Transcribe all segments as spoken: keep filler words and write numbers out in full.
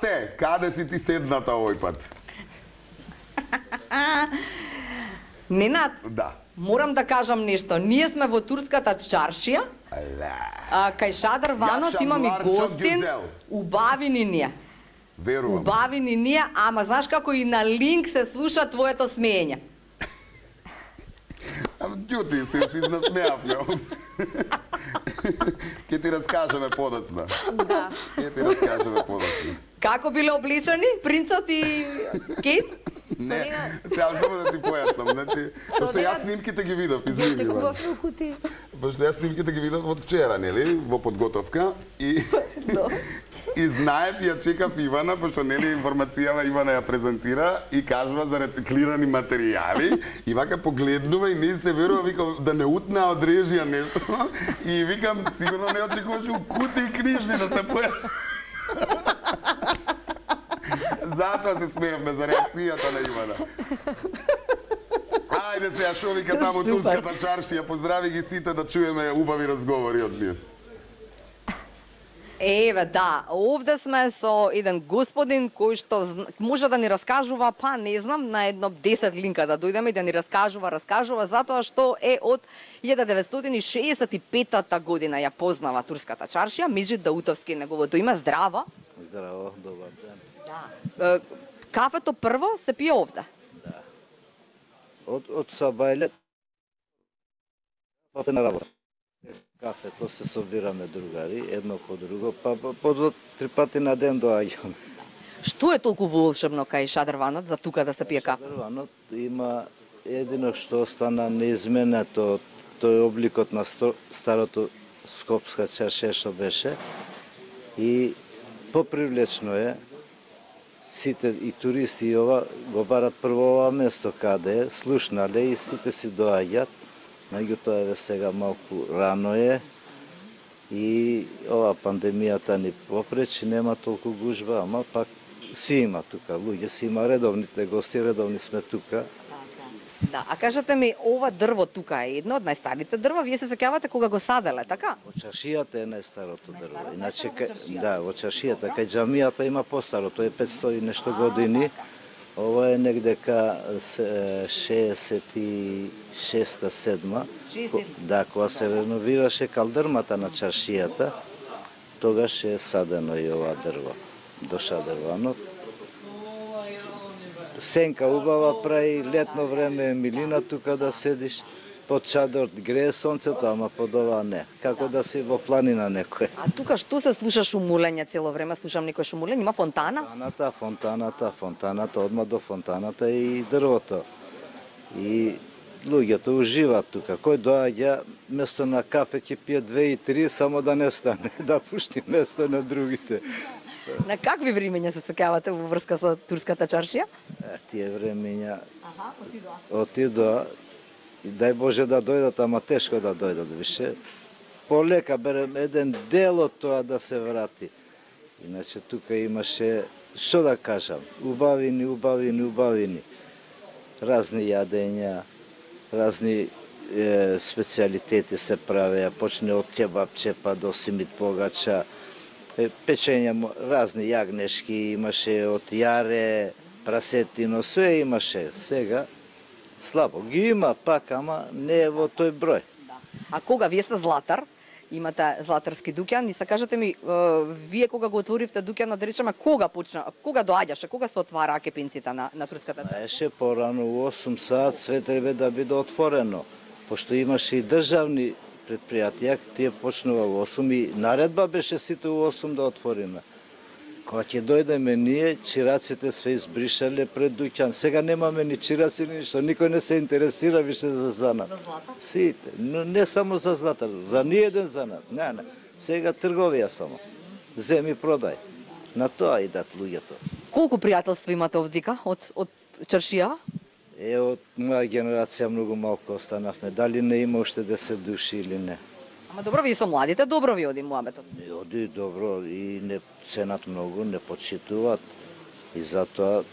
Злате, каде си ти седната овој пат? Ненад, Да. морам да кажам нешто. Ние сме во турската чаршија, а, кај Шадар Ванот имаме гостин, убавини ние. Верувам. Убавини ние, ама знаеш како и на линк се слуша твоето смеење. Ама ѓути се, си изнасмеавме. Ке ти раскажеме подоцна. Да. Ке ти раскажеме подоцна. Како биле обличани принцот и Кейт? Не, сега само да ти појаснам. Значи, пошто јас снимките ги видов, извини. Дече кога фрукути. Пошто јас снимките ги видов од вчера, нели, во подготовка и и знаев ја чекав Ивана, пошто нели информацијава Ивана ја презентира и кажува за рециклирани материјали и вака погледнува и не се верува, вика да не утнаа од режија нешто и викам сигурно не очекуваше у кути и книжни да се појави. Затоа се смеевме за реакцијата на Ивана. Ајде сега шо вика таму турската чаршија, поздрави ги сите да чуеме убави разговори од нив. Еве, да, овде сме со еден господин кој што може да ни раскажува, па не знам, на едно десет линка да дојдеме и да ни раскажува, раскажува, затоа што е од илјада деветстотини шеесет и петата година ја познава турската чаршија, Меджид Даутовски неговото име, здраво. Здраво, добар ден. Да. Кафето прво се пие овде. Да. Од, од Сабајле, па на работа. Кафето се собираме другари, едно по друго, па по два, три пати на ден доаѓаме. Што е толку волшебно кај Шадар Ванот за тука да се пие кафе? Шадар Ванот има едино што остана неизменето, тој обликот на сто, старото скопска чаршија што беше и попривлечно е. Сите и туристи и ова го барат прво ова место каде е, слушнале и сите си доаѓат. Меѓутоа еве сега малку рано е и ова пандемијата ни попречи, нема толку гужба, ама пак си има тука, луѓе си има, редовните гости, редовни сме тука. Да, а кажете ми, ова дрво тука е едно од најстарите дрва, вие се сеќавате кога го саделе, така? Во чаршијата е најстарото дрво. Иначе кај, да, во чаршијата, кај џамијата има постаро, тоа е петстотини и нешто години. Ова е негде ка шеесет и шеста седма. Да, кога се реновираше калдрмата на чаршијата, тогаш е садено и ова дрво до Шадар Ванот. Сенка убава прави, летно време е милина тука да седиш, под чадор грее сонцето, ама под ова не. Како да си во планина некој. А тука што се слуша шумулење цело време? Слушам некој шумулење, има фонтана? Фонтаната, фонтаната, фонтаната, одма до фонтаната и дрвото. И луѓето уживаат тука. Кој доаѓа, место на кафе ќе пие две и три, само да не стане, да пушти место на другите. На какви времења се сеќавате во врска со турската чаршија? Е, тие времења Аха, отидоа. отидоа и дај Боже да дојдат, ама тешко да дојдат више. Полека берем еден дел од тоа да се врати. Иначе тука имаше, што да кажам, убавини, убавини, убавини. Разни јадења, разни е, специјалитети се правеа, почне од кебапче па до симит погача, е, печења, разни јагнешки имаше, од јаре, прасетино, све имаше. Сега слабо ги има пак, ама не е во тој број. Да. А кога вие сте златар, имате златарски дуќан, и се кажете ми, е, вие кога го отворивте дуќанот, да речеме, кога почна, кога доаѓаше, кога се отвараа кепинците на, на турската чаршија? Еше порано у осум саат све треба да биде отворено, пошто имаше и државни предпријатија, тие почнува у осум и наредба беше сите у осум да отвориме. Кога ќе дојдеме ние, чираците све избришале пред дуќан. Сега немаме ни чираци, ни ништо, никој не се интересира више за занат. За златар? Сите, но не само за златар, за ниеден занат. Не, не. Сега трговија само. Земи продај. На тоа идат луѓето. Колку пријателства имате овдека од од чаршија? Е, од моја генерација многу малку останавме. Дали не има уште десет души или не. Ама добро, вие со младите добро ви оди муабетот. Не оди добро и не ценат многу, не почитуваат и затоа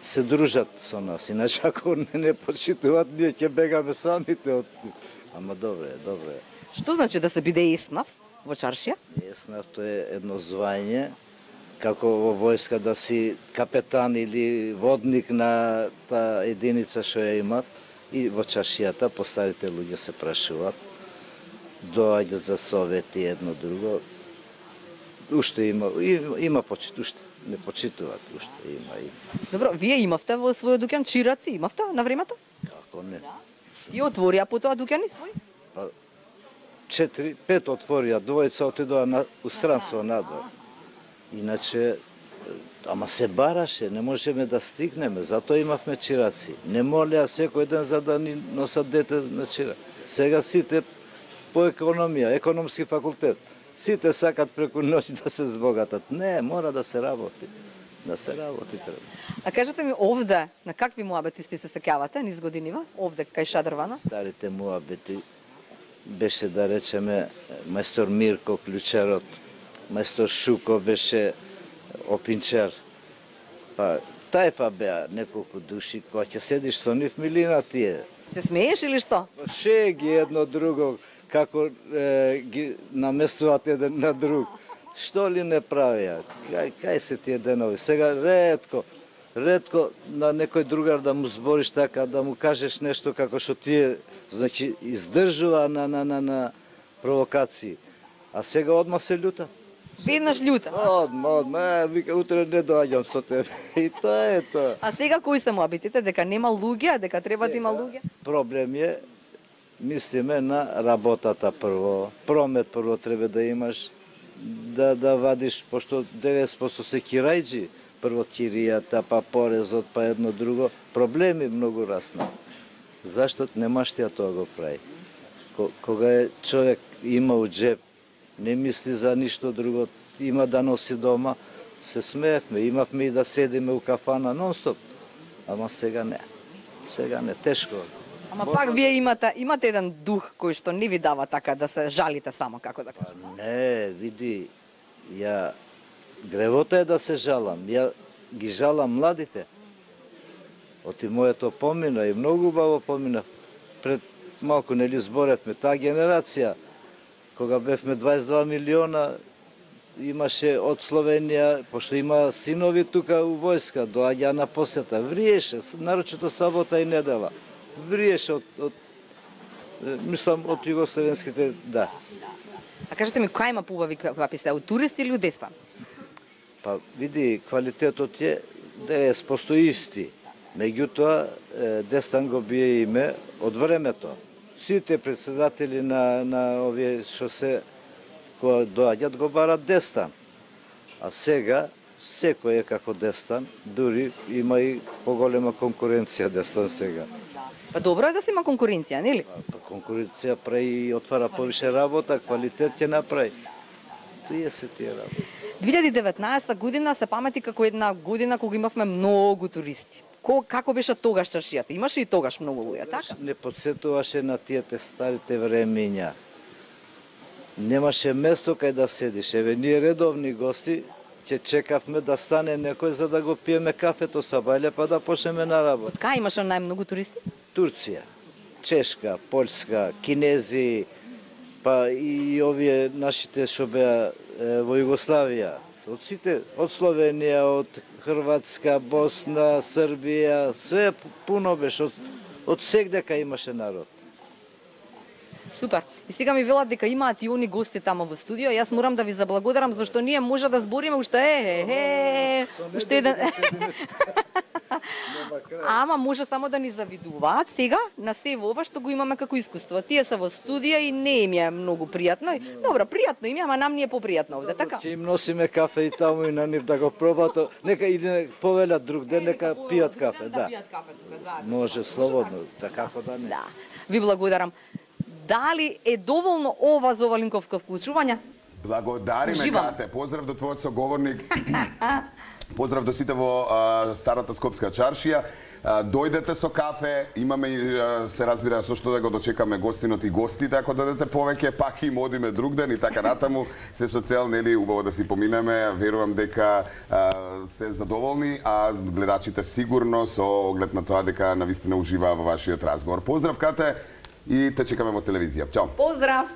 се дружат со нас. Иначе ако не, не почитуваат, ние ќе бегаме самите од... Ама добре, добре. Што значи да се биде еснав во чаршија? Еснав тоа е едно звање како во војска да си капетан или водник на таа единица што ја имат, и во чашијата постарите луѓе се прашуваат, доаѓаат за совети едно друго. Уште има, има почит, уште не почитуваат, уште има и. Добро, вие имавте во својот дуќан чираци, имавте на времето? Како не? Ти отворија потоа дуќани свој? Па, четири, пет отворија, двојца отидоа на устранство надвор. Иначе, ама се бараше, не можеме да стигнеме, затоа имавме чираци. Не молеа секој ден за да ни носат дете на чира. Сега сите по економија, економски факултет, сите сакат преку ноќ да се збогатат. Не, мора да се работи. Да се работи треба. А кажете ми овде, на какви муабети сте се сеќавате низ годинива? Овде кај Шадрвана? Старите муабети беше, да речеме, мајстор Мирко, клучарот, мајстор Шуко беше опинчар. Па, тајфа беа неколку души, кога ќе седиш со нив милина тие. Се смееш или што? Шеги едно друго, како е, ги наместуваат еден на друг. Што ли не правија? Кај, кај се тие денови? Сега ретко, ретко на некој другар да му збориш така, да му кажеш нешто како што тие, значи, издржува на, на, на, на провокации. А сега одма се љута. Веднаш љута. Одма, одма, е, вика, утре не доаѓам со тебе. И тоа е тоа. А сега кои се муабетите? Дека нема луѓе, дека треба да има луѓе? Проблем е, мислиме на работата прво. Промет прво треба да имаш, да, да вадиш, пошто деветдесет проценти се кирајджи, прво киријата, па порезот, па едно друго. Проблеми многу расна. Зашто немаш тија тоа го прави? Кога е човек има у джеб, не мисли за ништо друго, има да носи дома, се смеевме, имавме и да седиме у кафана нон-стоп. Ама сега не. Сега не, тешко. Ама пак вие имате, имате еден дух кој што не ви дава така да се жалите само, како да кажам. Не, види, ја гревота е да се жалам. Ја ги жалам младите. Оти моето помина и многу убаво помина. Пред малку нели зборевме, таа генерација, кога бевме дваесет и два милиона, имаше од Словенија, пошто има синови тука у војска, доаѓа на посета, вриеше, нарочито сабота и недела. Вриеше од, од мислам, од југословенските, да. А кажете ми, која има поубави квапи се, од туристи или од Дестан? Па, види, квалитетот е деветдесет проценти исти. Меѓутоа, Дестан го бие име од времето. Сите председатели на, на овие што се, кога доаѓат, го барат Дестан. А сега, секој е како Дестан, дури има и поголема конкуренција Дестан сега. Па добро е да се има конкуренција, нели? Па конкуренција прави и отвара повише работа, квалитет ќе направи. Тие се тие работи. две илјади и деветнаесета година се памети како една година кога имавме многу туристи. Ко, како беше тогаш чашијата? Имаше и тогаш многу луѓе, така? Не подсетуваше на тие старите времења. Немаше место кај да седиш. Еве, ние редовни гости ќе чекавме да стане некој за да го пиеме кафето са бајле, па да почнеме на работа. Од кај имаше најмногу туристи? Турција, Чешка, Полска, кинези, па и овие нашите што беа во Југославија. Од сите, од Словенија, од Хрватска, Босна, Србија, све пуно беше, од, од сегдека имаше народ. Супер. И сега ми велат дека имаат и они гости тамо во студио. Јас морам да ви заблагодарам зашто ние може да збориме уште е, е, уште еден. Ама може само да ни завидуваат сега на се ова што го имаме како искуство. Тие се во студија и не им е многу пријатно. Добро, пријатно им е, ама нам ни е попријатно овде, така? Ќе им носиме кафе и таму и на нив да го пробат. Нека или повелат друг ден, нека пијат кафе, да. Може слободно, така како да не. Да. Ви благодарам. Дали е доволно ова за ова линковско вклучување? Благодариме, Кате. Поздрав до твојот соговорник. Поздрав до сите во а, старата Скопска чаршија. А, дојдете со кафе, имаме и се разбира со што да го дочекаме гостинот и гостите, ако додете повеќе, пак им одиме друг ден и така натаму. Се со цел, нели, убаво да си поминеме, верувам дека а, се задоволни, а гледачите сигурно со оглед на тоа дека навистина уживаа во вашиот разговор. Поздрав, Кате, и те чекаме во телевизија. Чао. Поздрав.